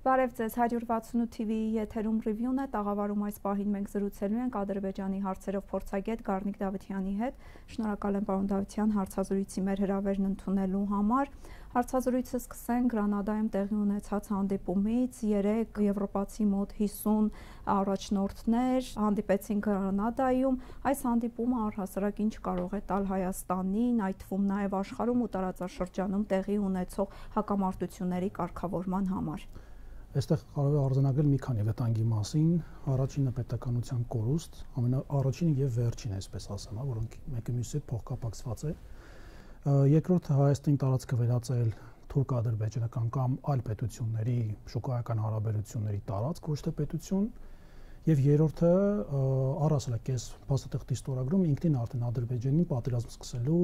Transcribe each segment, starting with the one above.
Բարև ձեզ, 168 TV-ի եթերում ռիվյուն է, տաղավարում այս պահին մենք զրուցելու ենք Ադրբեջանի հարցերով փորձագետ Գառնիկ Դավթյանի հետ։ Շնորհակալ եմ պարոն Դավթյան հարցազրույցի մեր հրավերն ընդունելու համար։ Հարցազրույցը սկսենք Գրանադայում տեղի ունեցած հանդիպումից։ Երեկ եվրոպացի մոտ 50 առաջնորդներ հանդիպեցին Գրանադայում։ Այս հանդիպումը առհասարակ ինչ կարող է տալ Հայաստանին, այդ թվում նաև աշխարհում ու տարածաշրջանում տեղի ունեցող հակամարտությունների կարգավորման համար։ Այստեղ կարող է արձանագրել մի քանի վտանգի մասին։ Առաջինը պետականության կորուստ, ամենաառաջինը եւ վերջինը, այսպես ասեմ, որոնք մեկը մյուսի հետ փոխկապակցված է։ Երկրորդը Հայաստանի տարածքը վերածել թուրք-ադրբեջանական կամ այլ պետությունների շուկայական հարաբերությունների տարածք, ոչ թե պետություն։ Եվ երրորդը առասարակ փաստաթղթի ստորագրում ինքնին արդեն Ադրբեջանին պատերազմ սկսելու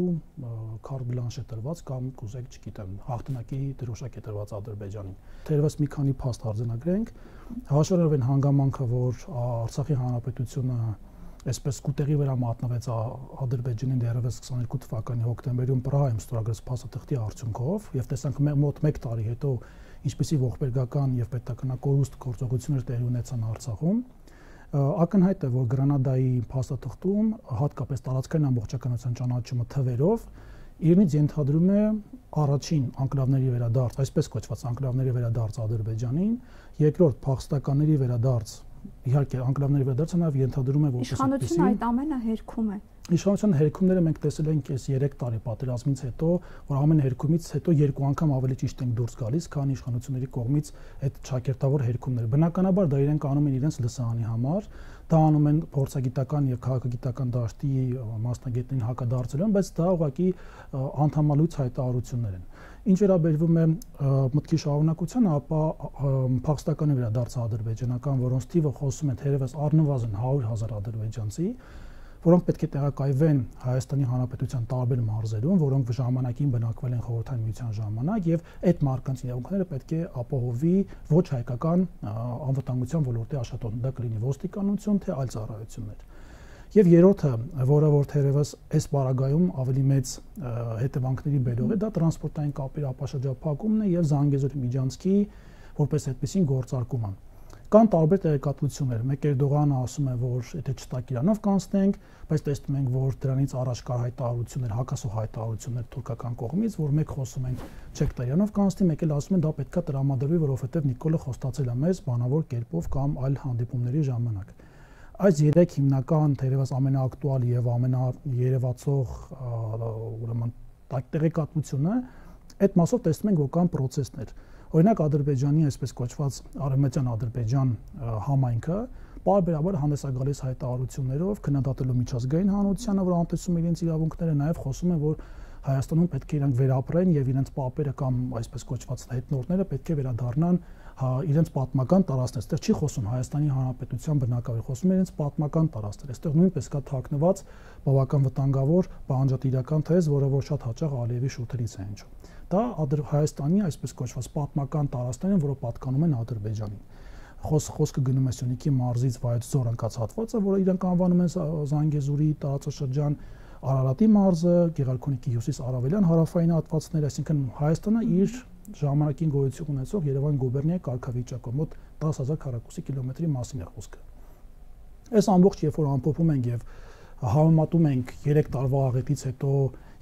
քարտ բլանշ է տրված կամ կուզեք, չգիտեմ, հաղթանակի դրոշակ է տրված Ադրբեջանին։ Թերևս մի քանի փաստ արձանագրենք, հաշվառելով այն հանգամանքը, որ Արցախի հանրապետությունը այսպես կուտեղի վրա մատնվեց Ադրբեջանին դեռևս 22 թվականի հոկտեմբերում Պրահայում ստորագրած փաստաթղթի արդյունքով, եւ տեսանք մոտ 1 տարի հետո ինչպիսի ողբերգական եւ պետականակորուստ գործողություններ տեղի ունեցան Արցախում, ակնհայտ է, որ Գրանադայի փաստաթղթում հատկապես տարածքային ամբողջականության ճանաչումը թվերով իրենից ենթադրում է առաջին անկլավների վերադարձ, այսպես կոչված անկլավների վերադարձ Ադրբեջանին, երկրորդ փախստականների վերադարձ, իհարկե անկլավների վերադարձը նաև ենթադրում է որպես իշխանությունը այդ ամենը հերքում է։ Իշխանության հերքումները մենք տեսել ենք այս 3 տարի պատերազմից հետո, որ ամեն հերքումից հետո 2 անգամ ավելի ճիշտ են դուրս գալիս, քան իշխանությունների կողմից այդ ճակերտավոր հերքումները։ Բնականաբար դա իրենք անում են իրենց լսարանի համար, դա անում են փորձագիտական եւ քաղաքագիտական դաշտի մասնագետներին հակադարձելով, բայց դա ուղղակի անդամալույց հայտարարություններ են։ Ինչ վերաբերվում է մտքի շարունակությանը, ապա փախստականի վերադարձ ադրբեջանական, որոնց թիվը խոսում են թերևս առնվազն 100,000 ադրբեջանցի, որոնք պետք է տեղակայվեն Հայաստանի Հանրապետության տարբեր մարզերում, որոնք ժամանակին բնակվել են Խորհրդային Միության ժամանակ, եւ այդ մարդկանց իրավունքները պետք է ապահովի ոչ հայկական անվտանգության ոլորտի աշխատողներ, դա կլինի ոստիկանություն, թե այլ ծառայություններ։ Եվ երրորդը, որը որ թերևս այս բարագայում ավելի մեծ հետևանքների բերող է, դա տրանսպորտային կապերի ապաշրջափակումն է եւ Զանգեզուրի միջանցքի որպես այդպեսին գործարկումը։ Կան տարբեր տեղեկատվություններ։ Մեկ Էրդողանը ասում է, որ եթե չտակ Իրանով կանցնենք, բայց տեսնում ենք, որ դրանից առաջ կար հայտարարություններ, հակասող հայտարարություններ թուրքական կողմից, որ մեկ խոսում են չեք տա Իրանով կանցնի, մեկ էլ ասում են դա պետքա տրամադրվի, որովհետև Նիկոլը խոստացել է մեզ բանավոր կերպով կամ այլ հանդիպումների ժամանակ։ Այս 3 հիմնական, թերևս ամենաակտուալ եւ ամենաերևացող ուրեմն տեղեկատվությունը այդ մասով տեսնում ենք, որ կան process-ներ։ Օրինակ Ադրբեջանի այսպես կոչված Արևմտյան Ադրբեջան համայնքը պարբերաբար հանդես է գալիս հայտարարություններով, քննադատելով միջազգային հանրությանը, որ անտեսում իրենց իրավունքները, նաև խոսում են, որ Հայաստանում պետք է իրանք վերապրեն եւ իրենց պապերը կամ այսպես կոչված հետնորդները պետք է վերադառնան իրենց պատմական տարածքներ։ Այստեղ չի խոսում Հայաստանի Հանրապետության բնակավայր, խոսում է իրենց պատմական տարածքներ։ Այստեղ նույնպես կա թաքնված բավական վտանգավոր պահանջատիրական թեզ, որը որ շատ հաճախ Ալիևի շուրթերից է հնչում։ Դա Հայաստանի այսպես կոչված պատմական տարածքներ են, որը պատկանում են Ադրբեջանին։ Խոսքը գնում է Սյունիքի մարզից Վայոց-Ձոր ընկած հատվածը, որը իրանք անվանում են Զանգեզուրի տարածաշրջան, Արարատի մարզը, Գեղարքունիքի հյուսիս-արևելյան հարավային հատվածներ, այսինքն Հայաստանը իր ժամանակին գոյություն ունեցող Երևան գուբերնիայի կարգավիճակով մոտ 10,000 քառակուսի կիլոմետրի մասին է խոսքը։ Այս ամբողջ երբ որ ամփոփում ենք եւ համեմատում ենք 3 տարվա աղետից հետո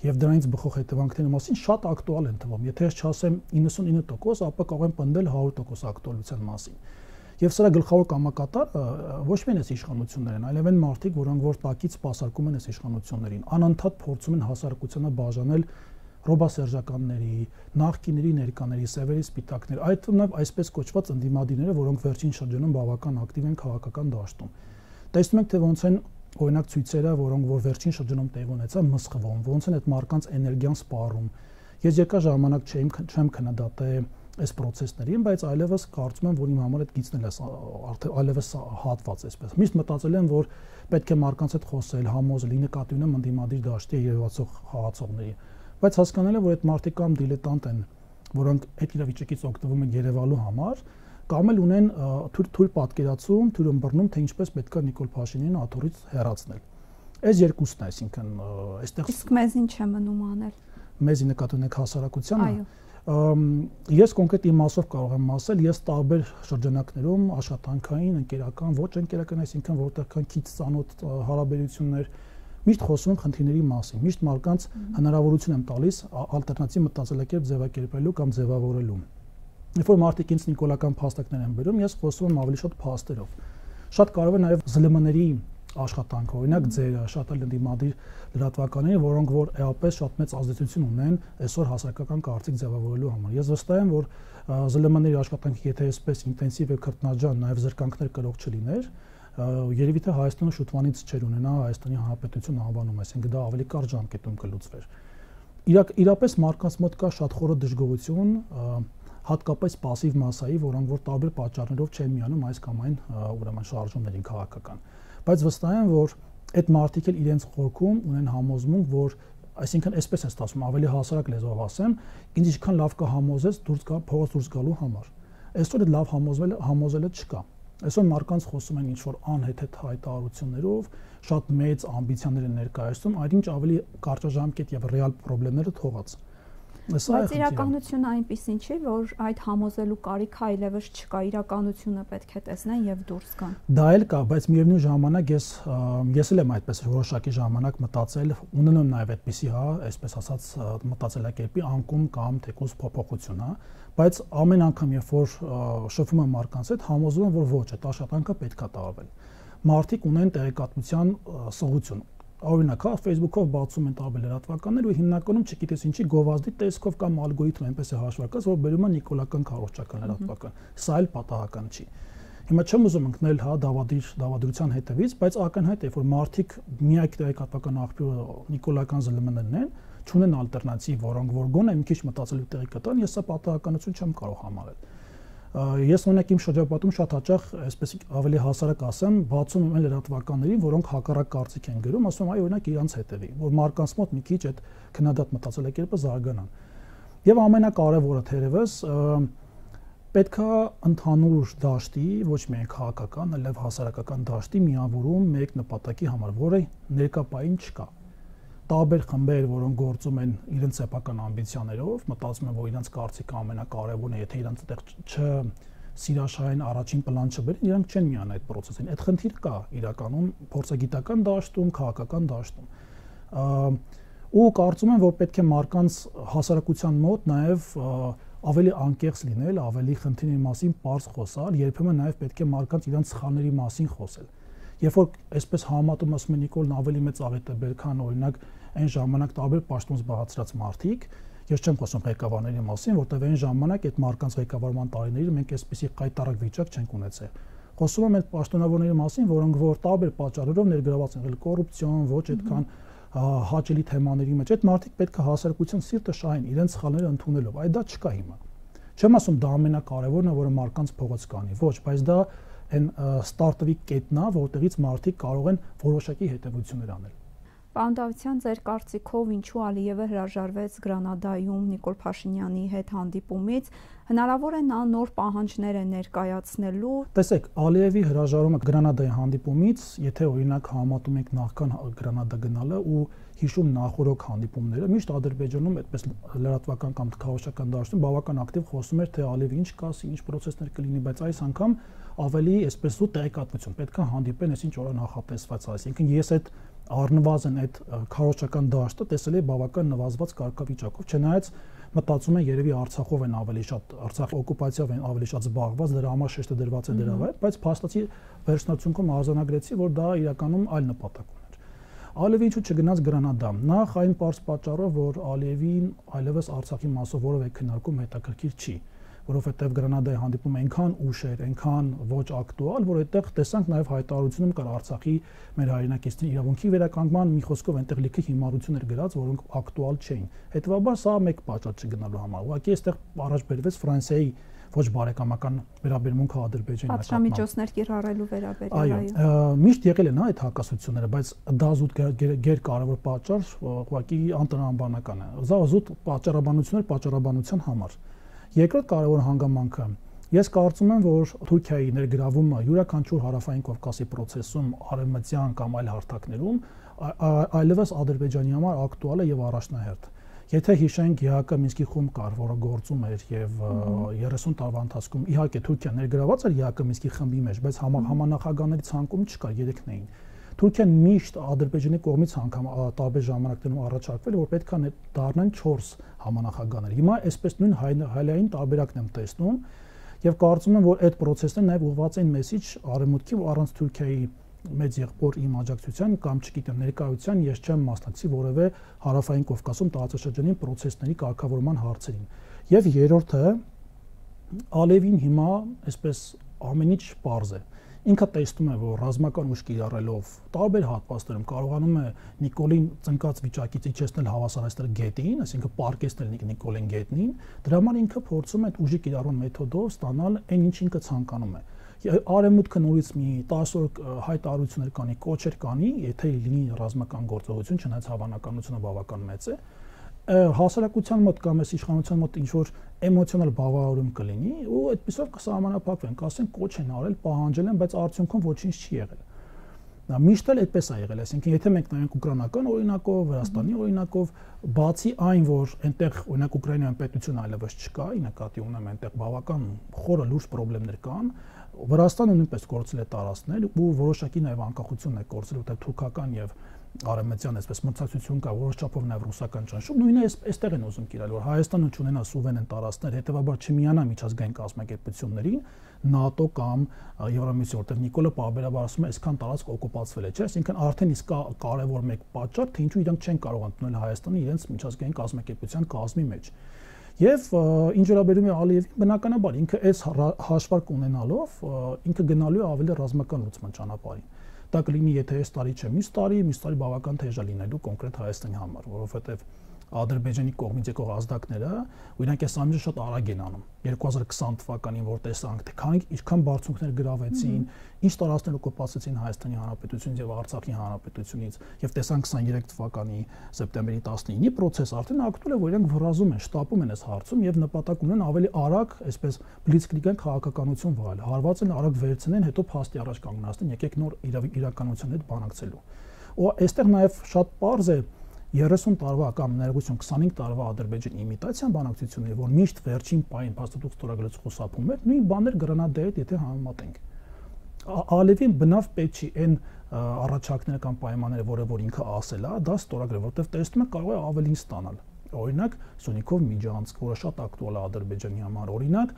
եւ դրանից բխող հետևանքների մասին, շատ ակտուալ են թվում։ Եթե ես չասեմ 99%, ապա կարող եմ պնդել 100% ակտուալության մասին։ Եվ սրա գլխավոր կամակատարը ոչ միայն այս իշխանություններն, այլև այն մարդիկ, որոնք որ տակից սպասարկում են այս իշխանություններին, անընդհատ փորձում են հասարակությանը բաժանել ռոբասերժականների, նախկիների ներկաների, սևերի սպիտակներ, այդ թվում նաև այսպես կոչված ընդդիմադիրները, որոնք վերջին շրջանում բավական ակտիվ են քաղաքական դաշտում։ Տեսնում ենք, թե ոնց են օրինակ ցույցերը, որոնք որ վերջին շրջանում տեղի ունեցան, մսխվում, ոնց են այդ մարդկանց էներգիան սպառում։ Ես երկար ժամանակ չեմ քննադատել այս process-ներին, բայց այլևս կարծում եմ, որ իմ համար այդ գիծն էլ արդեն այլևս հատված էսպես։ Միշտ մտածել եմ, որ պետք է մարդկանց հետ խոսել, համոզել, նկատի ունեմ ընդդիմադիր դաշտի երևացող խաղացողների, բայց հասկանալ եմ, որ այդ մարդիկ կամ դիլետանտ են, որոնք այդ իրավիճակից օգտվում են Երևանու համար, կամ էլ ունեն թույլ պատկերացում, թույլ ըմբռնում, թե ինչպես պետք է Նիկոլ Փաշինյանին աթոռից հեռացնել։ Այս երկուսն է, այսինքն այստեղ իսկ մեզ ինչ է մնում անել։ Մեզ նկատի ունեք հասարակությանը։ Ես կոնկրետ իմաստով կարող եմ ասել, ես տարբեր շրջանակներում աշխատանքային, ընկերական, ոչ ընկերական, այսինքն որտեղ կան քիչ ծանոթ հարաբերություններ, միշտ խոսում եմ խնդիրների մասին, միշտ մարդկանց հնարավորություն եմ տալիս ալտերնատիվ մտածելակերպ ձևակերպելու կամ ձևավորելու։ Երբ որ մարդիկ ինձ նիկոլական փաստարկներ են բերում, ես խոսում եմ ավելի շատ փաստերով։ Շատ կարևոր է նաև ԶԼՄ-ների աշխատանքը, օրինակ ձերը, շատ էլ ընդդիմադիր լրատվականները, որոնք որ էապես շատ մեծ ազդեցություն ունեն այսօր հասարակական կարծիք ձևավորելու համար։ Ես վստահ եմ, որ ԶԼՄ-ների աշխատանքը եթե այսպես ինտենսիվ եւ քրտնաջան նաև զրկանքներ կրող չլիներ, երևի թե Հայաստանը շուտվանից չէր ունենա Հայաստանի Հանրապետություն անվանում, այսինքն դա ավելի կարճ ժամկետում կլուծվեր։ Իրապես մարդկանց մոտ կա շատ խորը դժգոհություն, հատկապես пассив մասայի, որոնք որ տարբեր պատճառներով չեն միանում այս կամ այն ուրեմն շարժումներին քաղաքական։ Բայց վստահ եմ, որ այդ մարդիկ էլ իրենց խորքում ունեն համոզմունք, որ այսինքն այսպես է ստացվում, ավելի հասարակ լեզվով ասեմ, ինձ ինչքան լավ կհամոզես փողոց դուրս գալու համար։ Այսօր այդ լավ համոզելը չկա։ Այսօր մարդկանց խոսում են ինչ-որ անհեթեթ հայտարարություններով, շատ մեծ ամբիցիաներ են ներկայացնում, այնինչ ավելի կարճաժամկետ եւ ռեալ խնդիրները թողած։ Բայց իրականությունը այնպեսին չի, որ այդ համոզելու կարիքը այլևս չկա, իրականությունը պետք է տեսնեն եւ դուրս գան։ Դա էլ կա, բայց միևնույն ժամանակ ես էլ եմ այդպես որոշակի ժամանակ մտածել, ունենում նաեւ այդպիսի, այսպես ասած, մտածելակերպի անկում կամ թեկուզ փոփոխություն, բայց ամեն անգամ երբ որ շփվում եմ մարդկանց հետ, համոզվում եմ, որ ոչ, այդ աշխատանքը պետքա տարվել։ Մարդիկ ունեն տեղեկատվության սղություն։ Օրինակ, Facebook-ով բացում են տարբեր լրատվականներ ու հիմնականում չգիտես ինչի գովազդի տեսքով կամ ալգորիթմ այնպես է հաշվարկած, որ բերում են նիկոլական քարոզչական լրատվական։ Սա էլ պատահական չի։ Հիմա չեմ ուզում ընկնել դավադրության հետևից, բայց ակնհայտ է, որ մարդիկ միակ տեղեկատվական աղբյուրը նիկոլական ԶԼՄ-ներն են, չունեն ալտերնատիվ, որոնք որ գոնե մի քիչ մտածելու տեղի կտան, ես սա պատահականություն չեմ կարող համարել։ Ես օրինակ իմ շրջապատում շատ հաճախ, այսպես ավելի հասարակ ասեմ, բացում եմ լրատվականներին, որոնք հակառակ կարծիք են գրում, ասում եմ, այ օրինակ իրանց հետևի, որ մարդկանց մոտ մի քիչ այդ քննադատ մտածելակերպը զարգանան։ Եվ ամենակարևորը թերևս պետքա ընդհանուր դաշտի, ոչ միայն քաղաքական, այլև հասարակական դաշտի միավորում մեկ նպատակի համար, որը ներկայապային չկա։ Տարբեր խմբեր, որոնք գործում են իրենց սեփական ամբիցիաներով, մտածում են, որ իրենց կարծիքը ամենակարևորն է, եթե իրենց այդտեղ սիրաշահային առաջին պլան չբերեն, իրանք չեն միանա այդ process-ին։ Այդ խնդիրը կա իրականում փորձագիտական դաշտում, քաղաքական դաշտում։ Ու կարծում եմ, որ պետք է մարդկանց հասարակության մոտ նաև ավելի անկեղծ լինել, ավելի խնդիրների մասին պարզ խոսալ, երբեմն նաև պետք է մարդկանց իրենց սխալների մասին խոսել։ Երբ որ այսպես համատում ասում են Նիկոլն ավելի մեծ աղետ է բեր, քան օրինակ այն ժամանակ տարբեր պաշտոն զբաղեցրած մարդիկ, ես չեմ խոսում ղեկավարների մասին, որտեղ այն ժամանակ այդ մարդկանց ղեկավարման տարիներին մենք այսպեսի կայտարակ վիճակ չենք ունեցել։ Խոսում եմ այդ պաշտոնավորների մասին, որոնք որ տարբեր պատճառներով ներգրաված են եղել կոռուպցիոն, ոչ այդքան հաճելի թեմաների մեջ։ Այդ մարդիկ պետք է հասարակության սիրտը շահեն իրենց սխալները ընդունելով։ Այդ դա չկա հիմա։ Չեմ ասում դա ամենակարևորն է, որը մարդկանց փողոց կանի, ոչ, բայց դա այն ստարտվի կետն է, որտեղից մարդիկ կարող են որոշակի հետևություններ անել։ Պարոն Դավթյան, ձեր կարծիքով ինչու Ալիևը հրաժարվեց Գրանադայում Նիկոլ Փաշինյանի հետ հանդիպումից, հնարավոր է նա նոր պահանջներ է ներկայացնելու։ Տեսեք, Ալիևի հրաժարումը Գրանադայի հանդիպումից, եթե օրինակ համատում ենք նախքան Գրանադա գնալը ու հիշում նախորդ հանդիպումները, միշտ Ադրբեջանում այդպես լրատվական կամ քաղաքական դաշտում բավական ակտիվ խոսում էր, թե Ալիևը ինչ կասի, ինչ process-ներ կլինի, բայց այս անգամ ավելի այսպես ու տեղեկատվություն պետք է հանդիպեն, այսինչ օրը նախատեսված, այսինքն ես այդ առնվազն այդ քարոզչական դաշտը տեսել է բավական նվազված կարգավիճակով, չնայած մտածում են երևի Արցախով են ավելի շատ, Արցախի օկուպացիայով են ավելի շատ զբաղված, դրա համար շեշտը դրված է դրա վրա, բայց փաստացի վերջնացունքում արձանագրեցի, որ դա իրականում այլ նպատակ ուներ։ Ալիևը ինչու չգնաց Գրանադա։ Նախ այն պարզ պատճառով, որ Ալիևին այլևս Արցախի մասով որևէ քննարկում հետաքրքիր չի, որովհետև Գրանադայի հանդիպումը այնքան ուշ էր, այնքան ոչ ակտուալ, որ այդտեղ տեսանք նաև հայտարարությունում կար Արցախի մեր հայրենակիցների իրավունքի վերականգնման, մի խոսքով այնտեղ լիքը հիմարություններ գրած, որոնք ակտուալ չէին։ Հետևաբար սա մեկ պատճառ չգնալու համար։ Ուղղակի այստեղ առաջ բերվեց Ֆրանսիայի ոչ բարեկամական վերաբերմունքը Ադրբեջանի նկատմամբ։ Պատժամիջոցներ կիրառելու վերաբերյալ, այո, միշտ եղել են այդ հակասությունները, բայց դա զուտ գերկարևոր պատճառ ուղղակի անտրամաբանական է։ Դա զուտ պատճառաբանության համար։ Երկրորդ կարևոր հանգամանքը, ես կարծում եմ, որ Թուրքիայի ներգրավումը յուրաքանչյուր հարավային Կովկասի process-ում, արևմտյան կամ այլ հարթակներում այլևս Ադրբեջանի համար ակտուալ է եւ առաջնահերթ։ Եթե հիշենք ԵԱՀԿ Մինսկի խումբ կար, որը գործում էր եւ 30 տարվա ընթացքում իհարկե Թուրքիան ներգրաված էր ԵԱՀԿ Մինսկի խմբի մեջ, բայց համանախագահների ցանկում չկար, երեքն էին։ Թուրքիան միշտ Ադրբեջանի կողմից անգամ տարբեր ժամանակներում առաջարկվել, որ պետք է դառնան 4 համանախագահներ։ Հիմա այսպես նույն հայլային տարբերակն եմ տեսնում եւ կարծում եմ, որ այդ process-ը նաեւ ուղղված են մեսիջ արևմուտքի, որ առանց Թուրքիայի մեծ եղբոր իմ աջակցության կամ չգիտեմ ներկայության ես չեմ մասնակցի որևէ հարավային Կովկասում տարածաշրջանի process-ների կարգավորման հարցերին։ Եվ երրորդը Ալիևին հիմա այսպես ամեն ինչ պարզ է։ Ինքը տեսնում է, որ ռազմական ուժ կիրառելով տարբեր հատվածներում կարողանում է Նիկոլին ծնկած վիճակից իջեցնել հավասարեցնել գետին, այսինքն պարկեցնել Նիկոլին գետնին, դրա համար ինքը փորձում է ուժի կիրառում մեթոդով ստանալ այն ինչ ինքը ցանկանում է։ Արևմուտքը նորից մի 10 օր հայտարարություններ կանի, կոչեր կանի, եթե լինի ռազմական գործողություն, չնայած հավանականությունը բավական մեծ է, հասարակության մոտ կամ այս իշխանության մոտ ինչ որ էմոցիոնալ բավարարում կլինի ու այդպեսով կսահմանափակվեն, կասեն կոչ են արել, պահանջել են, բայց արդյունքում ոչինչ չի եղել։ Դա միշտ էլ այդպես է եղել, այսինքն եթե մենք նայենք ուկրաինական օրինակով, Վրաստանի օրինակով, բացի այն, որ այնտեղ օրինակ Ուկրաինայում պետություն այլևս չկա, ի նկատի ունեմ այնտեղ բավական խորը լուրջ խնդիրներ կան, Վրաստանը նույնպես կորցրել է տարածքներ ու որոշակի նաև անկախություն է կորցրել, որտեղ թուրքական եւ արևմտյան այսպես մրցակցություն կա, որոշ չափով նաև ռուսական ճնշում, նույնը այստեղ են ուզում կիրառել, որ Հայաստանը չունենա սուվերեն տարածքներ, հետեւաբար չմիանա միջազգային կազմակերպություններին, ՆԱՏՕ կամ Եվրամիություն, որտեղ Նիկոլը պարբերաբար ասում է, այսքան տարածք օկուպացվել է, չէ՞, այսինքն արդեն իսկ կարևոր մեկ պատճառ, թե ինչու իրանք չեն կարող ընդունել Հայաստանը իրենց միջազգային կազմակերպության կազմի մեջ։ Եվ ինչ վերաբերում է Ալիևին, բնականաբար ինքը այս հաշվարկ ունենալով ինքը գնալու է ավելի ռազմական լուծման ճանապարհին։ Դա կլինի, եթե այս տարի չէ, մյուս տարի բավական թեժ է լինելու կոնկրետ Հայաստանի համար, որովհետև Ադրբեջանի կողմից եկող ազդակները ու իրանք այս ամենը շատ արագ են անում 2020 թվականին որ տեսանք թե ինչքան բարձունքներ գրավեցին, ինչ տարածքներ օկուպացրեցին Հայաստանի Հանրապետությունից եւ Արցախի Հանրապետությունից եւ տեսանք 23 թվականի սեպտեմբերի 19-ի process արդեն ակտուալ է, որ իրանք վրազում են, շտապում են այս հարցում եւ նպատակ ունեն ավելի արագ, այսպես բլիցկրիգային քաղաքականություն վարել, հարված են արագ վերցնեն, հետո փաստի առաջ կանգնացնեն, եկեք նոր իրականության հետ բանակցելու։ Ու այստեղ նաեւ շատ պարզ է 30 տարվա կամ ներողություն 25 տարվա Ադրբեջանի իմիտացիան բանակցությունների, որ միշտ վերջին պահին փաստաթուղթ ստորագրած խուսափում էր, նույն բաներ Գրանադայի հետ եթե համեմատենք։ Ալիևին բնավ պետք չի այն առաջարկները կամ պայմանները, որ ինքը ասել է, դա ստորագրել, որովհետև տեսնում է կարող է ավելին ստանալ։ Օրինակ Սյունիքով Միջանցք, որը շատ ակտուալ է Ադրբեջանի համար, օրինակ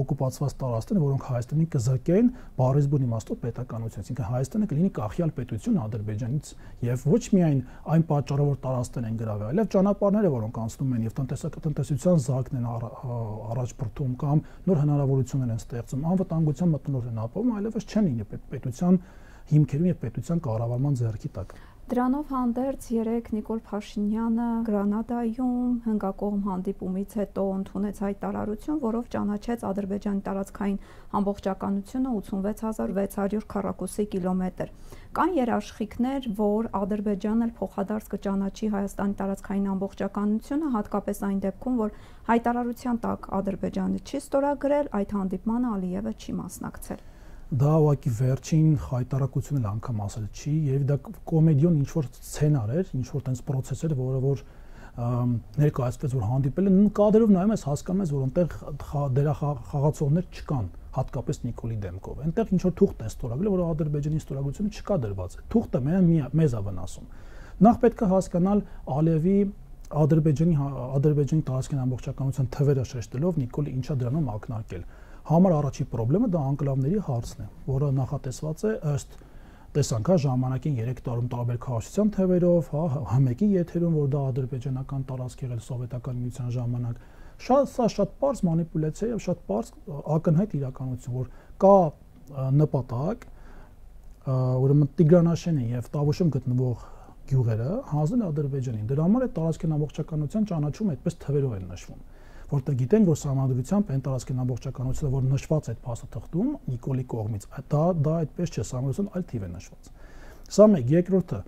օկուպացված տարածքներ, որոնք Հայաստանին կզրկեն բառեզբուն իմաստով պետականությունից, այսինքն Հայաստանը կլինի կախյալ պետություն Ադրբեջանից եւ ոչ միայն այն պատճառով որ տարածքներ են գրավել, այլև ճանապարհները, որոնք անցնում են եւ տնտեսական զարգն են առաջ բրդում կամ նոր հնարավորություններ են ստեղծում, անվտանգության մթնոլորտ են ապահովում, այլևս չեն լինի պետության հիմքերում եւ պետության կառավարման ձեռքի տակ։ Դրանով հանդերձ երեք Նիկոլ Փաշինյանը Գրանադայում հնգակողմ հանդիպումից հետո ընդունեց հայտարարություն, որով ճանաչեց Ադրբեջանի տարածքային ամբողջականությունը 86600 քառակուսի կիլոմետր։ Կան երաշխիքներ, որ Ադրբեջանն էլ փոխադարձ կճանաչի Հայաստանի տարածքային ամբողջականությունը, հատկապես այն դեպքում, որ հայտարարության տակ Ադրբեջանը չի ստորագրել, այդ հանդիպմանը Ալիևը չի մասնակցել։ Դա ուղղակի վերջին հայտարարությունն էլ անգամ ասել չի, եւ դա կոմեդիոն ինչ որ սցենար էր, ինչ որ տենց process էր, որը որ ներկայացվեց, որ հանդիպել են, կադրով նայում ես հասկանում ես, որ այնտեղ դերախաղացողներ չկան, հատկապես Նիկոլի դեմքով։ Այնտեղ ինչ որ թուղթ է ստորագրել, որ Ադրբեջանի ստորագրությունը չկա դրված։ Թուղթը մեզ է վնասում։ Նախ պետք է հասկանալ Ալիևի Ադրբեջանի տարածքային ամբողջականության թվերը շեշտելով Նիկոլը ինչա դրանում ակնարկել։ Համար առաջի խնդրումը դա անկլավների հարցն է, որը նախատեսված է ըստ տեսանք ժամանակին 3 տարում տարբեր քարոզության թվերով, մեկի եթերում, որ դա ադրբեջանական տարածք եղել սովետական միության ժամանակ։ Շատ պարզ մանիպուլյացիա եւ շատ պարզ ակնհայտ իրականություն, որ կա նպատակ, ուրեմն Տիգրանաշենի եւ Տավուշում գտնվող գյուղերը հանձնել Ադրբեջանին։ Դրա համար է տարածքային ամբողջականության ճանաչումը այդպես թվերով են նշվում, որտեղ գիտենք, որ սահմանադրությամբ այն տարածքային ամբողջականությունը, որ նշված այդ փաստաթղթում Նիկոլի կողմից, դա այդպես չէ, սահմանադրության այլ թիվ է նշված։ Սա մեկ, երկրորդը,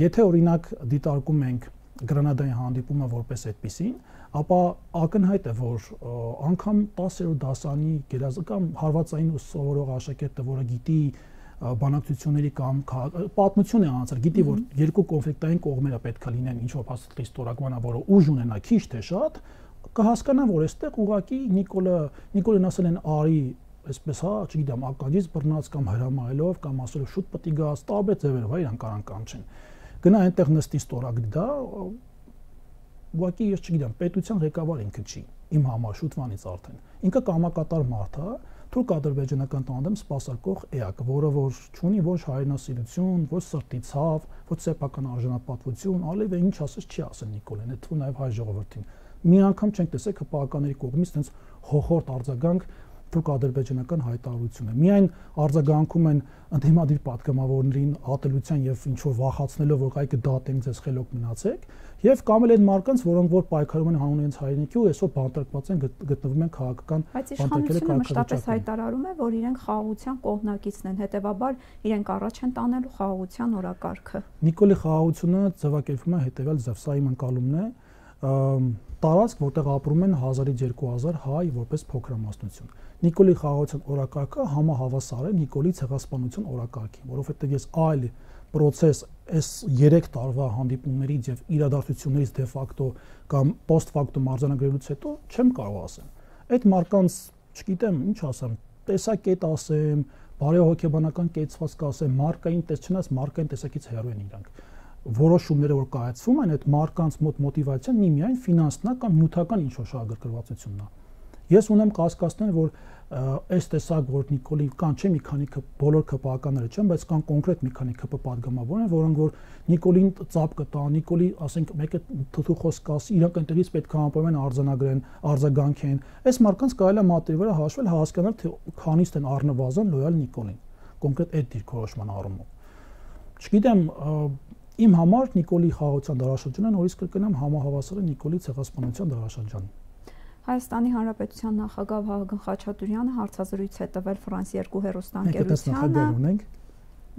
եթե օրինակ դիտարկում ենք Գրանադայի հանդիպումը որպես այդպիսին, ապա ակնհայտ է, որ անգամ 10-րդ դասարանի գերազգամ հարվածային սովորող աշակերտը, որը գիտի բանակցությունների կամ պատմություն է անցել, գիտի որ երկու կոնֆլիկտային կողմերը պետք է լինեն ինչ-որ փաստաթղթի ստորագրման, որը ուժ ունենա քիչ թե շատ, կհասկանա, որ այստեղ ուղղակի Նիկոլին ասել են արի, այսպես հա, չգիտեմ, ակաջից բռնած կամ հրամայելով կամ ասելով շուտ պետք է գաս, տարբեր ձևերով իրան կարան կանչեն։ Գնա այնտեղ նստի ստորագրի դա, ուղղակի ես չգիտեմ, պետության ղեկավար ինքը չի, իմ համար շուտվանից արդեն։ Ինքը կամակատար մարդ է, թուրք-ադրբեջանական տանդեմ սպասարկող էակ, որը որ չունի ոչ հայրենասիրություն, ոչ սրտի ցավ, ոչ սեփական արժանապատվություն, ալեվ ինչ ասես չի ասել Նիկոլեն, այդ թվում նաև հայ ժողովրդին։ Մի անգամ չենք տեսել ՀՊԱ-ականների կողմից այնց հոխորտ արձագանք թուրք-ադրբեջանական հայտարարությունը։ Միայն արձագանքում են ընդդիմադիր պատգամավորներին ատելության եւ ինչ որ վախացնելով, որ այ կդատենք ձեզ խելոք մնացեք, եւ կամ էլ այն մարկանց, որոնք որ պայքարում են հանուն իրենց հայրենիքի ու այսօր բանտարկված են գտնվում են քաղաքական բանտարկելի մշտապես հայտարարում է, որ իրենք խաղաղության կողմնակիցն են, հետեւաբար իրենք առաջ են տանելու խաղաղության օրակարգը։ Նիկոլի խաղաղությունը ձևակերպվում է հետեւյալ ձև, սա իմ ընկալումն է, տարածք, որտեղ ապրում են 1000-ից 2000 հայ որպես փոքրամասնություն։ Նիկոլի խաղաղության օրակարգը համահավասար է Նիկոլի ցեղասպանության օրակարգին, որովհետև ես այլ process այս 3 տարվա հանդիպումներից եւ իրադարձություններից դե ֆակտո կամ post facto արձանագրելուց հետո չեմ կարող ասեմ։ Այդ մարկանց, չգիտեմ, ինչ ասեմ, տեսակետ ասեմ, բարեհոգեբանական կեցվածք ասեմ, մարկային տեսչնաց մարկային տեսակից հեռու են իրանք։ Որոշումները որ կայացվում են, այդ մարկանց մոտ մոտիվացիան միայն ֆինանսն է կամ նյութական ինչ-որ շահագրգռվածությունն է։ Ես ունեմ կասկածներ, որ այս տեսակ որ Նիկոլի կան չէ մի քանի բոլոր ԿՊԱ-ականները չեն, բայց կան կոնկրետ մի քանի ԿՊ պատգամավորներ, որոնք որ Նիկոլին ծափ կտան, Նիկոլի, ասենք, մեկը թթու խոսք ասի, իրանք ընտրից պետք է անպայման արձանագրեն, արձագանքեն։ Այս մարկանց կարելի է մատի վրա հաշվել, հասկանալ թե քանիստ են առնվազն լոյալ Նիկոլին, կոնկրետ այդ դիրքորոշման առումով։ Չգիտեմ, իմ համար Նիկոլի խաղաղության դարաշրջանը նորից կրկնեմ համահավասար է Նիկոլի ցեղասպանության դարաշրջանին։ Հայաստանի Հանրապետության նախագահ Վահագն Խաչատուրյանը հարցազրույց է տվել France 2 հեռուստաընկերությանը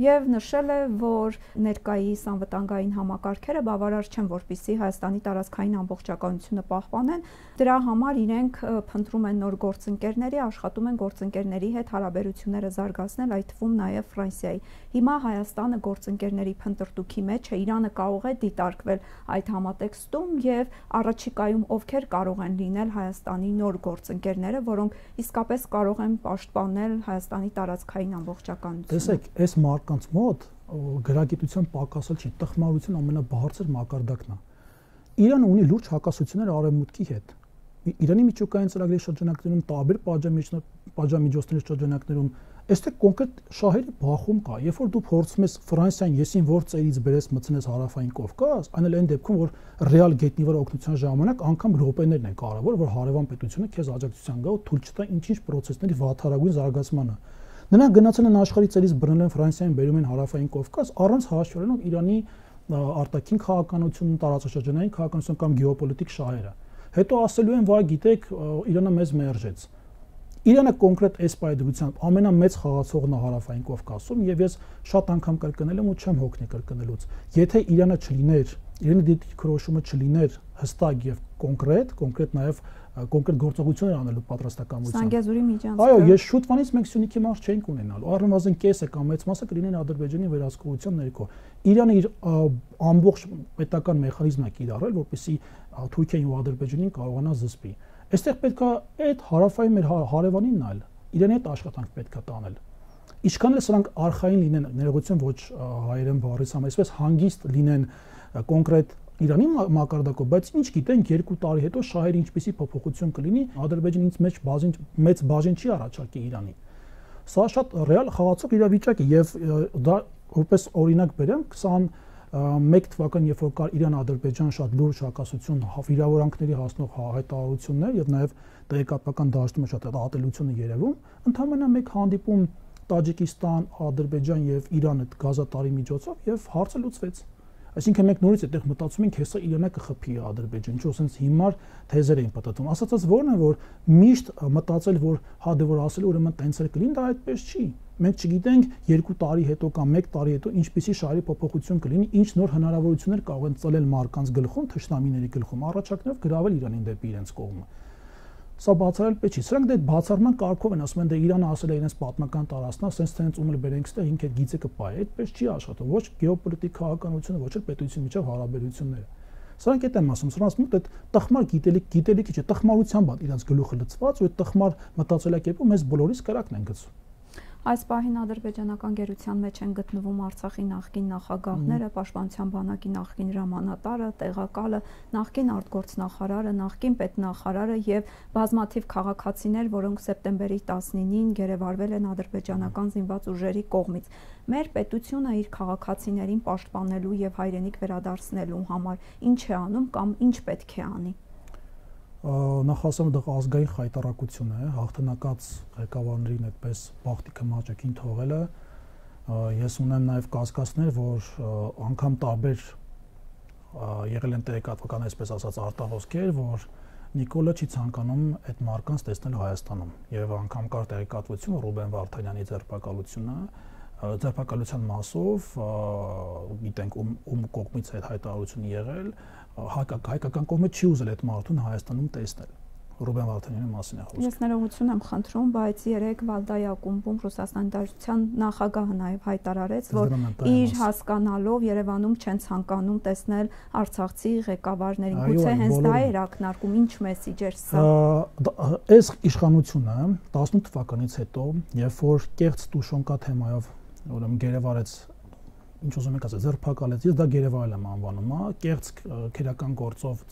եւ նշել է, որ ներկայիս անվտանգային համակարգերը բավարար չեն, որպեսզի Հայաստանի տարածքային ամբողջականությունը պահպանեն։ Դրա համար իրենք փնտրում են նոր գործընկերների, աշխատում են գործընկերների հետ հարաբերությունները զարգացնել, այդ թվում նաեւ Ֆրանսիայի։ Հիմա Հայաստանը գործընկերների փնտրտուքի մեջ է, Իրանը կարող է դիտարկվել այդ համատեքստում եւ առաջիկայում ովքեր կարող են լինել Հայաստանի նոր գործընկերները, որոնք իսկապես կարող են պաշտպանել Հայաստանի տարածքային ամբողջականությունը։ Տեսեք, այս կանց մոտ գրագիտության պակասը չի, տխմարության ամենաբարձր մակարդակն է։ Իրանը ունի լուրջ հակասություններ արևմուտքի հետ։ Իրանի միջուկային ծրագրի շրջանակներում, տարբեր պատժամիջոցների շրջանակներում, այստեղ կոնկրետ շահերի բախում կա։ Երբ որ դու փորձում ես Ֆրանսիան եսին որ ծերից բերես մտցնես հարավային Կովկաս, այն էլ այն դեպքում, որ ռեալ գետնի վրա օգնության ժամանակ անգամ րոպեներն են կարևոր, որ հարևան պետությունը քեզ աջակցության գա ու թույլ չտա ինչ-ինչ պրոցեսների վատթարագույն զարգացմանը։ Նրանք գնացել են աշխարհի ծերից բռնել են Ֆրանսիային, բերում են հարավային Կովկաս, առանց հաշվառելով Իրանի արտաքին քաղաքականություն, տարածաշրջանային քաղաքականություն կամ գեոպոլիտիկ շահերը։ Հետո ասելու են, վայ, գիտեք, Իրանը մեզ մերժեց։ Իրանը կոնկրետ այս պայդրությամբ ամենամեծ խաղացողն է հարավային Կովկասում եւ ես շատ անգամ կրկնել եմ ու չեմ հոգնի կրկնելուց։ Եթե Իրանը չլիներ, Իրանի դիրքորոշումը չլիներ հստակ եւ կոնկրետ նաեւ կոնկրետ գործողություններ անելու պատրաստակամությամբ։ Սանգեզուրի միջանցքը։ Այո, ես շուտվանից մենք Սյունիքի մարզ չենք ունենալու։ Առնվազն կեսը կամ մեծ մասը կլինեն Ադրբեջանի վերահսկողության ներքո։ Իրանը իր ամբողջ պետական մեխանիզմը կիրառել, որպեսզի Թուրքիային ու Ադրբեջանին կարողանա զսպի։ Այստեղ պետք է այդ հարավային մեր հարևանին նայել։ Իրանի հետ աշխատանք պետք է տանել։ Ինչքան էլ սրանք արխային լինեն, ներողություն ոչ հայերեն բառից համ, այսպես հանգիստ լինեն կոնկրետ Իրանի մակարդակով, բայց ինչ գիտենք 2 տարի հետո շահերը ինչպիսի փոփոխություն կլինի, Ադրբեջանը ինձ մեծ բաժին չի առաջարկի Իրանի։ Սա շատ ռեալ խաղացող իրավիճակ է եւ դա որպես օրինակ բերեմ 21 թվականին, երբ որ կար Իրան-Ադրբեջան շատ լուրջ հակասություն, վիրավորանքների հասնող հայտարարություններ եւ նաեւ տեղեկատվական դաշտում շատ ատելությունը երևում, ընդհանրապես մեկ հանդիպում Տաջիկստան, Ադրբեջան եւ Իրան այդ գազատարի միջոցով եւ հարցը լուծվեց։ Այսինքն մենք նորից այդտեղ մտածում ենք, հեսա Իրանը կխփի Ադրբեջան, ինչ ասենց հիմար թեզեր էին պատտում։ Ասածած որն է, որ միշտ մտածել, որ հա դե որ ասել ուրեմն տենց էլ կլինի, դա այդպես չի։ Մենք չգիտենք 2 տարի հետո կամ 1 տարի հետո ինչպիսի շահերի փոփոխություն կլինի, ինչ նոր հնարավորություններ կարող են ծլել մարկանց գլխում, թշնամիների գլխում, առաջարկներով գրավել Իրանին դեպի իրենց կողմը։ Սա բացառել պետք չի։ Սրանք դե բացառման կարգով են, ասում են դե Իրանը ասել է իրենց պատմական տարածքն, ասենց թե հենց ումել բերենք ստե ինքը գիծը կպահի։ Այդպես չի աշխատում, ոչ գեոպոլիտիկ քաղաքականությունը, ոչ էլ պետությունի միջև հարաբերությունները։ Սրանք այդ եմ ասում, սրանց մոտ այդ տխմար գիտելիքի չէ, տխմարությամբ իրենց գլուխը լցված ու այդ տխմար մտածելակերպով մեզ բոլորիս կրակն են գցում։ Այս պահին ադրբեջանական գերության մեջ են գտնվում Արցախի նախկին նախագահները, Պաշտպանության բանակի նախկին հրամանատարը, տեղակալը, նախկին արտգործնախարարը, նախկին պետնախարարը եւ բազմաթիվ քաղաքացիներ, որոնք սեպտեմբերի 19-ին գերեվարվել են ադրբեջանական զինված ուժերի կողմից։ Մեր պետությունը իր քաղաքացիներին պաշտպանելու եւ հայրենիք վերադարձնելու համար ինչ է անում կամ ինչ պետք է անի։ Նախ ասեմ դա ազգային խայտարակություն է, հաղթանակած ղեկավարներին այդպես բախտիկը մաճակին թողելը։ Ես ունեմ նաև կասկածներ, որ անգամ տարբեր եղել են տեղեկատվական, այսպես ասած, արտահոսքեր, որ Նիկոլը չի ցանկանում այդ մարկանց տեսնել Հայաստանում, եւ անգամ կար տեղեկատվություն Ռուբեն Վարդանյանի ձերբակալությունը, ձերբակալության մասով գիտենք ում կողմից այդ հայտարարությունը եղել, հայկական կողմը չի ուզել այդ մարդուն Հայաստանում տեսնել։ Ռուբեն Վարդանյանի մասին է խոսքը։ Ես ներողություն եմ խնդրում, բայց երեք Վալդայի ակումբում Ռուսաստանի Դաշնության նախագահը նաև հայտարարեց, որ իր հասկանալով Երևանում չեն ցանկանում տեսնել արցախցի ղեկավարներին։ Գուցե հենց դա էր ակնարկում, ինչ մեսիջ էր սա։ Այս իշխանությունը 18 թվականից հետո, երբ որ կեղծ Տուշոնկա թեմայով ուրեմն գերեվարեց, ինչ ուզում եք ասել, ձերբակալեց, ես դա գերեվարել եմ անվանում, կեղծ քերական գործով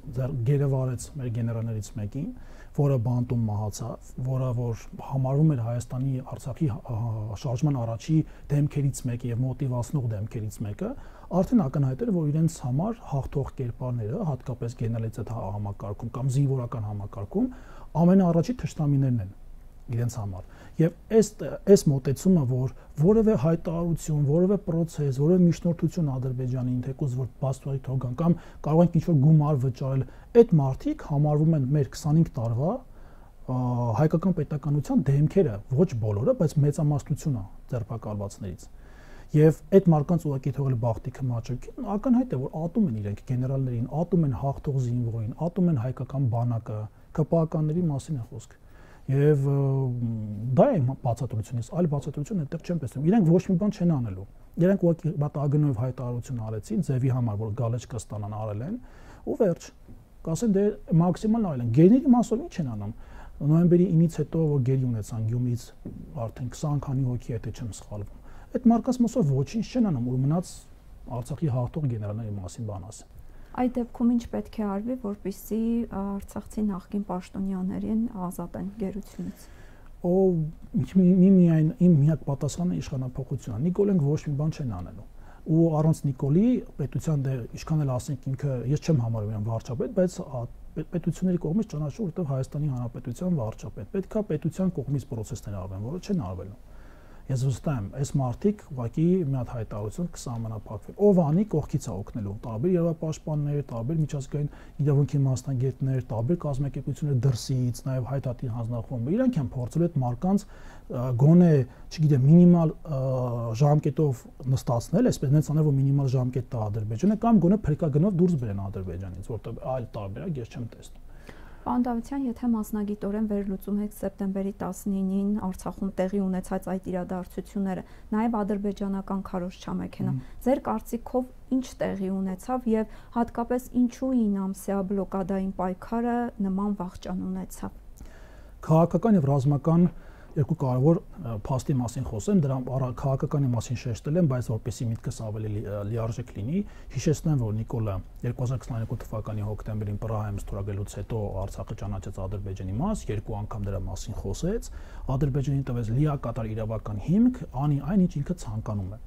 գերեվարեց մեր գեներալներից մեկին, որը բանտում մահացավ, որը որ համարվում էր Հայաստանի Արցախի շարժման առաջի դեմքերից մեկը եւ մոտիվացնող դեմքերից մեկը, արդեն ակնհայտ էր, որ իրենց համար հաղթող կերպարները, հատկապես գեներալից այդ համակարգում կամ զինվորական համակարգում, ամենաառաջի թշնամիներն են իրենց համար։ Եվ այս մոտեցումը, որ որևէ հայտարարություն, որևէ process, որևէ միջնորդություն Ադրբեջանին, թեկուզ որ բաստուարի թողան կամ կարող են ինչ-որ գումար վճարել, այդ մարդիկ համարվում են մեր 25 տարվա հայկական պետականության դեմքերը, ոչ բոլորը, բայց մեծամասնությունը ձերբակալվածներից։ Եվ այդ մարկանց ուղղակի թողել բախտիկը մաճակին, ակնհայտ է, որ ատում են իրենք գեներալներին, ատում են հաղթող զինվորին, ատում են հայկական բանակը, ԿՊԱ-ականների մասին է խոսքը։ Եվ դա է բացատրությունից, այլ բացատրություն այդտեղ չեմ տեսնում։ Իրենք ոչ մի բան չեն անելու։ Իրենք ուղղակի մտագնով հայտարարություն արեցին, ձևի համար, որ գալեչկա ստանան, արել են, ու վերջ։ Կասեն դե մաքսիմալ արել են։ Գերների մասով ինչ են անում։ Նոյեմբերի 9-ից հետո որ գերի ունեցան Գյումրից արդեն 20 քանի հոգի եթե չեմ սխալվում։ Այդ մարկանց մասով ոչինչ չեն անում, ու մնաց Արցախի հաղթող գեներալների մասին բան ասեն։ Այդ դեպքում ինչ պետք է արվի, որպեսզի արցախցի նախկին պաշտոնյաներին ազատեն գերությունից։ Միայն իմ միակ պատասխանը իշխանապողությունն է։ Նիկոլենք ոչ մի բան չեն անելու։ Ու առանց Նիկոլի պետության դե ինչքան էլ ասենք ինքը ես չեմ համարում իրեն վարչապետ, բայց պետությունների կողմից ճանաչում, որտեղ Հայաստանի Հանրապետության վարչապետ։ Պետքա պետության կողմից process-ներ արվեն, որը չեն արվելու։ Ես վստահ եմ, այս մարտիկ ուղղակի մի հատ հայտարարություն կսահմանափակվի։ Ով անի կողքից է օգնելու։ Տարբեր երևապաշտպաններ, տարբեր միջազգային իրավունքի մասնագետներ, տարբեր կազմակերպություններ դրսից, նաև հայտարարի հանձնախումբը, իրանք են փորձել այդ մարկանց գոնե, չգիտեմ, մինիմալ ժամկետով նստացնել, այսպես նենց անել, որ մինիմալ ժամկետ տա Ադրբեջանը կամ գոնե փրկագնով դուրս բերեն Ադրբեջանից, որտեղ այլ տարբերակ ես չեմ տեսնում։ Պարոն Դավթյան, եթե մասնագիտորեն վերլուծում եք սեպտեմբերի 19-ին Արցախում տեղի ունեցած այդ իրադարձությունները, նաև ադրբեջանական քարոզչամեքենա, ձեր կարծիքով ինչ տեղի ունեցավ եւ հատկապես ինչու 9 ամսյա բլոկադային պայքարը նման վախճան ունեցավ։ Քաղաքական եւ ռազմական երկու կարևոր փաստի մասին խոսեմ, դրա քաղաքականի մասին շեշտել եմ, բայց որպեսզի միտքս ավելի լիարժեք լինի, հիշեցնեմ, որ Նիկոլը 2022 թվականի հոկտեմբերին Պրահայում ստորագրելուց հետո Արցախը ճանաչեց Ադրբեջանի մաս, երկու անգամ դրա մասին խոսեց, Ադրբեջանին տվեց լիակատար իրավական հիմք, անի այն ինչ ինքը ցանկանում է։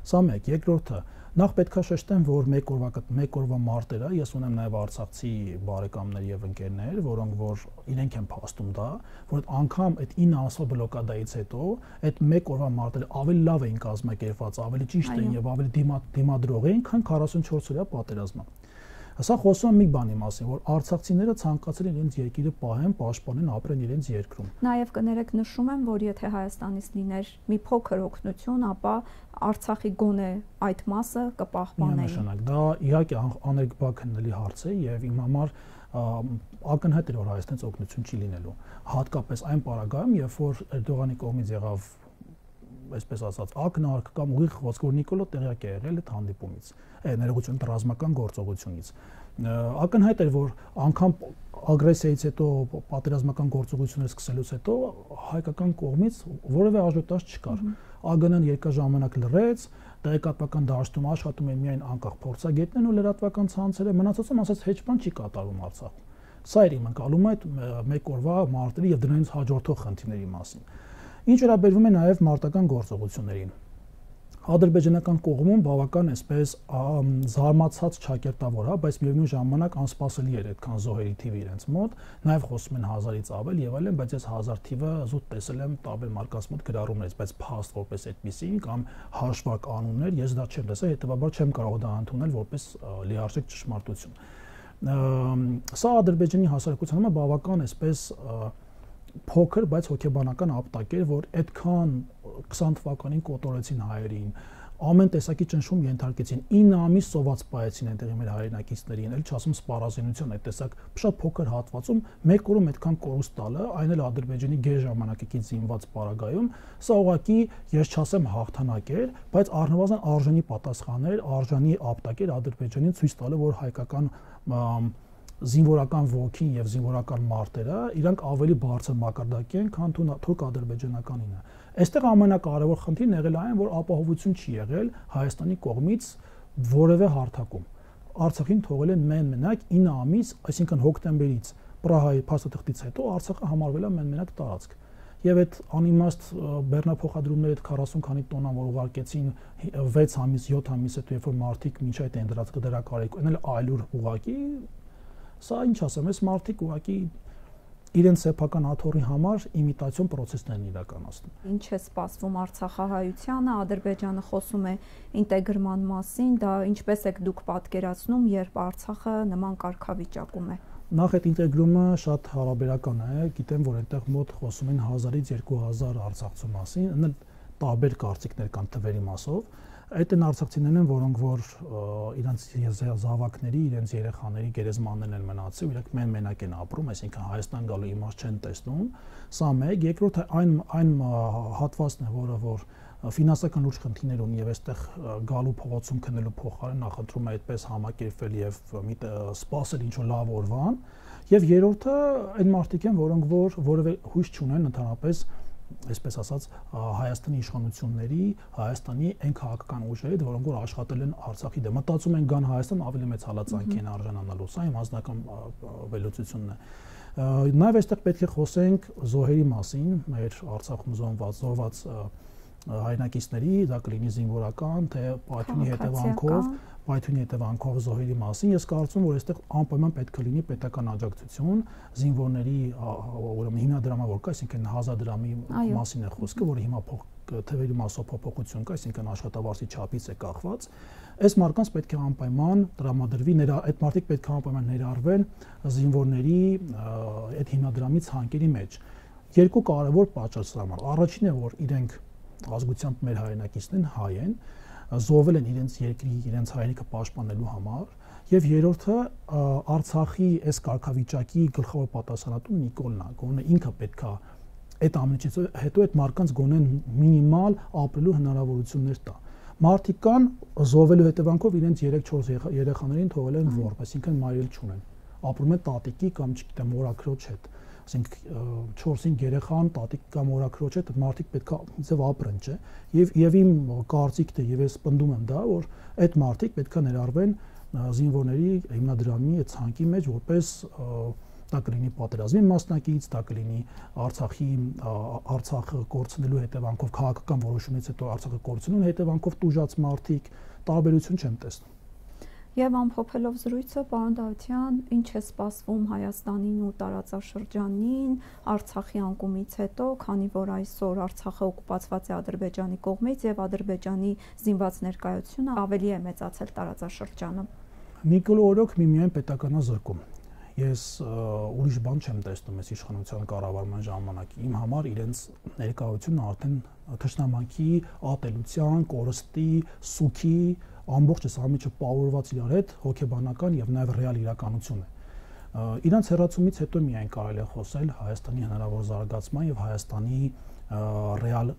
Սա մեկ, երկրորդը, նախ պետքա շեշտեմ, որ մեկ օրվա մարտերը, ես ունեմ նաև արցախցի բարեկամներ եւ ընկերներ, որոնք որ իրենք են փաստում դա, որ անգամ այդ 9 ամսվա բլոկադայից հետո այդ մեկ օրվա մարտերը ավելի լավ էին կազմակերպված, ավելի ճիշտ էին եւ ավելի դիմադրող էին, քան 44 օրյա պատերազմը։ Սա խոսում է մի բանի մասին, որ արցախցիները ցանկացել են իրենց երկիրը պահեն, պաշտպանեն, ապրեն իրենց երկրում։ Նաև կներեք նշում եմ, որ եթե Հայաստանից լիներ մի փոքր օգնություն, ապա Արցախի գոնե այդ մասը կպահպանեին։ Միանշանակ, դա իհարկե աներկբա քննելի հարց է եւ իմ համար ակնհայտ էր, որ Հայաստանից օգնություն չի լինելու։ Հատկապես այն պարագայում, երբ որ Էրդողանի կողմից եղավ, այսպես ասած, ակնարկ կամ ուղիղ խոսք, որ Նիկոլո տեղյակ է եղել այդ հանդիպումից, ներողություն ռազմական գործողությունից։ Ակնհայտ էր, որ անգամ ագրեսիայից հետո պատերազմական գործողություններ սկսելուց հետո հայկական կողմից որևէ աժոտաժ չկար։ ԱԳՆ-ն երկար ժամանակ լռեց, տեղեկատվական դաշտում աշխատում են միայն անկախ փորձագետներն ու լրատվական ցանցերը, մնացածում ասած հեչ բան չի կատարվում Արցախում։ Սա էր իմ ընկալումը այդ մեկ օրվա մարտերի եւ դրանից հաջորդող խնդիրների մասին։ Ինչ վերաբերվում է նաեւ մարտական գործողություններին, ադրբեջանական կողմում բավական այսպես զարմացած ճակերտավոր, բայց միևնույն ժամանակ անսպասելի էր այդքան զոհերի թիվը իրենց մոտ, նաև խոսում են 1000-ից ավել եւ այլն, բայց ես 1000 թիվը զուտ տեսել եմ տարբեր մարկանց մոտ գրառումներից, բայց փաստ որպես այդպեսի կամ հաշվարկ անուններ ես դա չեմ տեսել, հետեւաբար չեմ կարող դա ընդունել որպես լիարժեք ճշմարտություն։ Սա ադրբեջանի հասարակության համար բավական այսպես փոքր, բայց հոգեբանական ապտակ էր, որ այդքան 20 թվականին կոտորեցին հայերին, ամեն տեսակի ճնշում ենթարկեցին, 9 ամիս սոված պայեցին այնտեղի մեր հայրենակիցներին, էլ չասում սպառազինության այդ տեսակ շատ փոքր հատվածում մեկ օրում այդքան կորուստ տալը, այն էլ Ադրբեջանի գեր ժամանակից զինված պարագայում, սա ուղղակի ես չասեմ հաղթանակ էր, բայց առնվազն արժանի պատասխան էր, արժանի ապտակ էր Ադրբեջանին ցույց տալը, որ հայկական զինվորական ոգին եւ զինվորական մարտերը իրանք ավելի բարձր մակարդակի են, քան թուրք ադրբեջանականինը։ Այստեղ ամենակարևոր խնդիրն եղել այն, որ ապահովություն չի եղել Հայաստանի կողմից որևէ հարթակում։ Արցախին թողել են մենակ 9 ամիս, այսինքն հոկտեմբերից Պրահայի փաստաթղթից հետո Արցախը համարվել է մենակ տարածք։ Եվ այդ անիմաստ բեռնափոխադրումները այդ 40 քանի տոննա, որ ուղարկեցին 6 ամիս, 7 ամիս հետո, երբ որ մարդիկ մինչ այդ են դրակարեք, այն էլ այլուր ուղակի, սա ինչ ասեմ, այս մարդիկ ուղակի իրենց սեփական աթոռի համար իմիտացիոն process-ներ են իրականացնում։ Ինչ է սպասվում արցախահայությանը, Ադրբեջանը խոսում է ինտեգրման մասին, դա ինչպես եք դուք պատկերացնում, երբ Արցախը նման կարգավիճակում է։ Նախ այդ ինտեգրումը շատ հարաբերական է, գիտեմ, որ այնտեղ մոտ խոսում են 1000-ից 2000 արցախցու մասին, տարբեր կարծիքներ կան թվերի մասով։ Այդ են արցախցիներն են, որոնք որ իրենց զավակների, իրենց երեխաների գերեզմաններն են մնացել, իրենք մենակ են ապրում, այսինքն Հայաստան գալու իմաստ չեն տեսնում։ Սա մեկ, երկրորդը այն հատվածն է, որը որ ֆինանսական լուրջ խնդիրներ ունի եւ այստեղ գալու փողոցում քննելու փոխարեն նախընտրում է այդպես համակերպվել եւ սպասել ինչ որ լավ օրվան, եւ երրորդը այն մարդիկ են, որոնք որ որևէ հույս չունեն ընդհանրապես այսպես ասած Հայաստանի իշխանությունների, Հայաստանի այն քաղաքական ուժերի, որոնք որ աշխատել են Արցախի դեմ, մտածում են գան Հայաստան ավելի մեծ հալածանքի են արժանանալու, սա իմ անձնական վերլուծությունն է։ Նաև այստեղ պետք է խոսենք զոհերի մասին, մեր Արցախում զոհված հայրենակիցների, դա կլինի զինվորական, թե պայթյունի հետևանքով զոհերի մասին։ Ես կարծում եմ, որ այստեղ անպայման պետք է լինի պետական աջակցություն զինվորների, ուրեմն հիմնադրամը որ կա, այսինքն 1000 դրամի մասին է խոսքը, որը հիմա թվերի մասով փոփոխություն կա, այսինքն աշխատավարձի չափից է կախված։ Այս մարկանց պետք է անպայման տրամադրվի, այդ մարդիկ պետք է անպայման ներառվեն զինվորների այդ հիմնադրամի ցանկերի մեջ։ Երկու կարևոր պատճառ սրա համար։ Առաջինն է, որ իրենք ազգությամբ մեր հայրենակիցներն հայ են, զոհվել են իրենց երկրի, իրենց հայրենիքը պաշտպանելու համար, եւ երրորդը Արցախի այս կարգավիճակի գլխավոր պատասխանատուն Նիկոլն է, գոնե ինքը պետքա այդ ամենից հետո այդ մարկանց գոնե մինիմալ ապրելու հնարավորություններ տա։ Մարդիկ կան զոհվելու հետևանքով իրենց 3-4 երեխաներին թողել են որբ, այսինքն մայրել չունեն։ Ապրում են տատիկի կամ չգիտեմ օրաքրոջ հետ։ Ասենք 4-5 երեխան, տատիկ կամ օրաքրոջ հետ մարդիկ պետք է ձև ապրեն, չէ։ Եվ իմ կարծիքն է, եւ ես պնդում եմ դա, որ այդ մարդիկ պետք է ներառվեն զինվորների հիմնադրամի այդ ցանկի մեջ, որպես դա կլինի պատերազմի մասնակից, դա կլինի Արցախը կորցնելու հետևանքով քաղաքական որոշումից հետո Արցախը կորցնելու հետևանքով տուժած մարդիկ, տարբերություն չեմ տեսնում։ Եվ ամփոփելով զրույցը, պարոն Դավթյան, ինչ է սպասվում Հայաստանին ու տարածաշրջանին Արցախի անկումից հետո, քանի որ այսօր Արցախը օկուպացված է Ադրբեջանի կողմից եւ Ադրբեջանի զինված ներկայությունը ավելի է մեծացել տարածաշրջանում։ Նիկոլո օրոք միմիայն պետականազրկում։ Ես ուրիշ բան չեմ տեսնում այս իշխանության կառավարման ժամանակ։ Իմ համար իրենց ներկայությունը արդեն թշնամանքի, ատելության, կորստի, սուքի ամբողջ այս ամիջը պարուրված իրար հետ հոգեբանական եւ նաեւ ռեալ իրականություն է։ Իրանց հեռացումից հետո միայն կարելի է խոսել Հայաստանի հնարավոր զարգացման եւ Հայաստանի ռեալ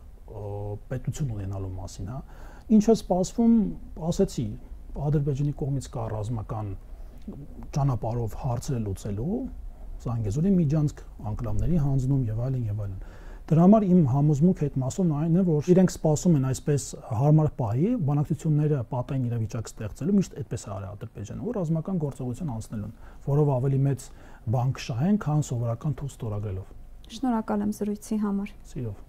պետություն ունենալու մասին, հա։ Ինչ է սպասվում, ասեցի, Ադրբեջանի կողմից կա ռազմական ճանապարհով հարցերը լուծելու, Զանգեզուրի միջանցք, անկլավների հանձնում եւ այլն եւ այլն։ Դրա համար իմ համոզմունքը այդ մասով այն է, որ իրենք սպասում են այսպես հարմար պահի բանակցությունները պատային իրավիճակ ստեղծելու, միշտ այդպես է արել Ադրբեջանը, որ ռազմական գործողություն անցնելուն, որով ավելի մեծ բան կշահեն, քան սովորական թուղթ ստորագրելով։ Շնորհակալ եմ զրույցի համար։ Սիրով։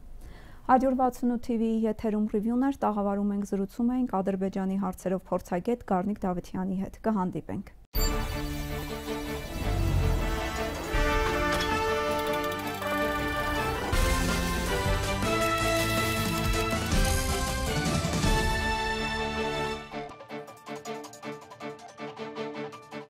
168 TV-ի եթերում ռիվյուներ տաղավարում ենք, զրուցում ենք Ադրբեջանի հարցերով փորձագետ Գառնիկ Դավթյանի հետ։ Կհանդիպենք։